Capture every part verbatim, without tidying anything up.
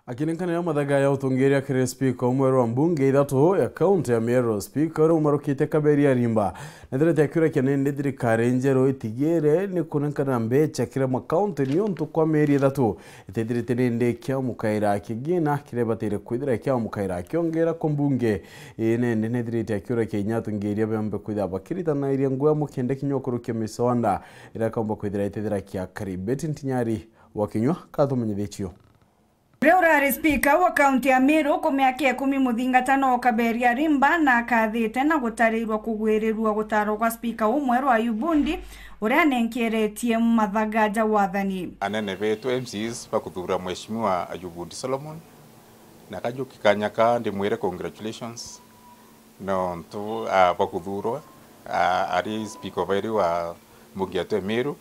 Akinenkanira mathaga ya utongeria kiri spika umwe rwa mbunge ithatu ya kaunti ya Meru, spika uria umarukite Kaberia Rimba, nethirite akiurakia nindi thirikari njeru itigire ni kunenkanira mbecha kiri makaunti niuntu kwa mieri ithatu itethirite nindi ikiamukaira kigina kiria ibatire kwithira ikiamukaira akiongera ku mbunge. Ii nindi nethirite akiurakia inya atongeria bembe kwithira bakiritanairia ngugi amwe kenda kinya ukurukia miswanda iria kaumba kwithira itethira kiakari. Betty Ntinyari wa Kinyua katumenyithitie. Uria urari spika wa kaunti ya Meru ku miaka ikumi muthingatano Kaberia Rimba na akathite na gutariirwa kugwirirua gutaro gwa spika umwe rwa Ayubu Ndi, uria anenkeretie mathaga ja wathani. Anene betu M Cs bakuthura Mheshimiwa Ayubu Ndi Solomon, na kajuki kanya ka ndimwire congratulations. Nontu, ah, bwa kuthurwa, ah, ari speaker o bairi wa mbunge yetu ya Meru,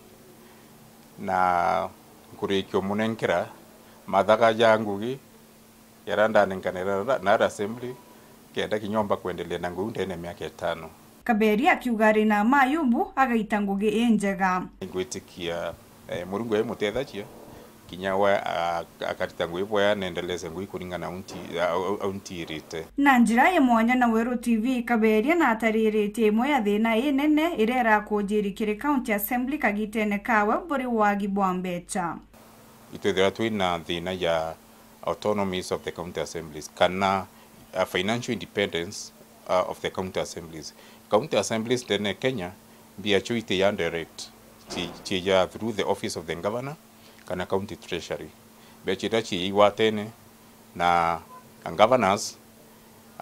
na nkurikia umunenkera mathaga ja ngugi jaria ndanenkanira na, na assembly, kenda kinya omba kwendelea na ngugi ndene ya miaka itano. Kaberia akiuga ari na ma Ayubu agaita ngugi injega. Ngwitikia, eh, Murungu emutethagia, kinya we, a-, akarita ngugi bwega na endeleze ngugi kuringana na unti-, a-, a-, untirite. Na njira ya mwanya na Weru T V, Kaberia na atariritie imwe ya thina inene iria irakujiri kiri County Assembly kagitene kawe buri wagi bwa mbecha. Itwithirwa twina thina ya autonomies of the county assemblies, kana, uh, financial independence, uh, of the county assemblies. County assemblies ndene ya Kenya, mbia cio itiya direct, ci-, ciija through the office of the governor kana county treasury. Mbeca iria ciija igwatene na governors,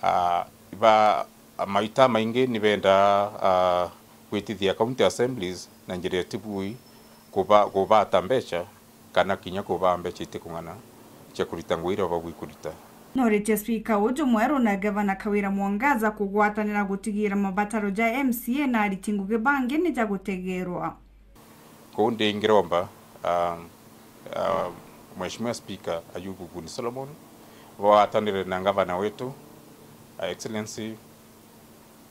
ah, ba, maita maingi ni bendaa, ah, gwitithia county assemblies na njira itibui kuba-, kubata mbeca kana kinya kubaa mbeca itikung'ana cia kurita ngugi iria babui kurita. Noritie spika uju mweru na gavana Kawira Mwangaza kugwatanira gutigira mabataro ja M C A na ariti ngugi bangi ni ja gutegerwa. Kuu ndi ngiromba, um, uh, Mheshimiwa Speaker Ayubu Buni Solomon, bwatanire na ngavana wetu, uh, Excellency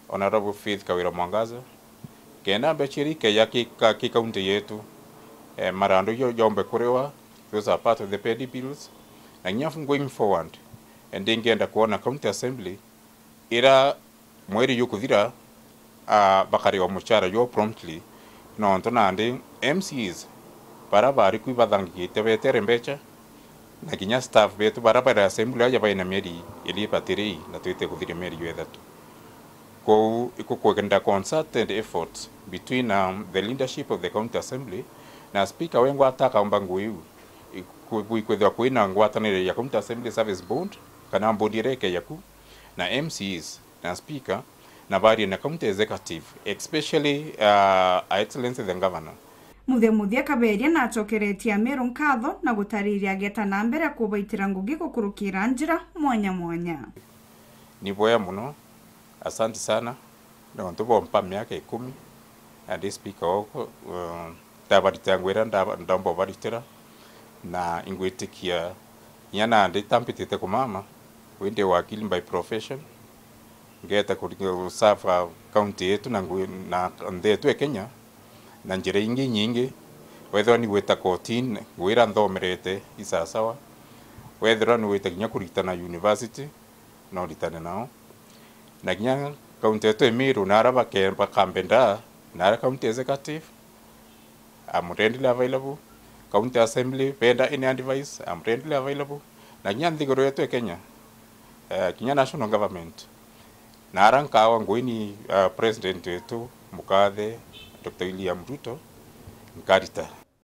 Honorable Faith Kawira Mwangaza, kenda mbeca iria ikeja ki ka-, ki kaunti yetu, eh, marandu jo-, jombe kuriwa, those are part of the petty bills, na nginya going forward, eh, ndingenda kwona county assembly ira mweri jukuthira, ah, bakariwa muchara jwao promptly, nontu nandi M Cs bara bari ku ibathangigite betere mbeca, na kinya staff betu bara bari assembly aja baina mieri iri ibatiri na twite kuthiria mieri jwa ithatu. Kou ikukwenda concerted efforts between, um, the leadership of the county assembly na speaker wengwa atakaumba ngugi iu, iku-, ikwithirwa kwina ngwatanire ya county assembly service board kana board iria ikeja ku na M Cs na speaker, na barie na county executive, especially, uh, Her Excellency the Governor. Muthia muthia Kaberia nacokeretie Ameru nkatho na gutariria ageta na mbere kubaitira ngugi gukurukira njira mwanya mwanya. Ni bwega muno, asante sana, nontu bompa miaka ikumi, na ndi speaker oku, uh, ndabaritira ngugi iria ndaba-, ndomba ubaritira, na ingwitikia inya nandi itampitite kumama, wi ndi wakili by profession, ngeta kuri-, guserve county yetu na ngu-, na nthi yetu ya Kenya na njira ingi inyingi. Wethirwa ni gwita kotini, ngugi iria nthomerete i sawasawa, wethirwa ni gwita kinya kuritana university, no ritane nao. Na kinya county yetu ya Meru, na aria bake-, bakambendaa, na aria county executive, I'm readily available. County assembly, benda any advice, I'm readily available. Na kinya nthiguru yetu ya Kenya, eh, kinya national government, na aria nkawa ngugi ni, eh, president wetu, mukathe Doctor William Ruto, nkarita.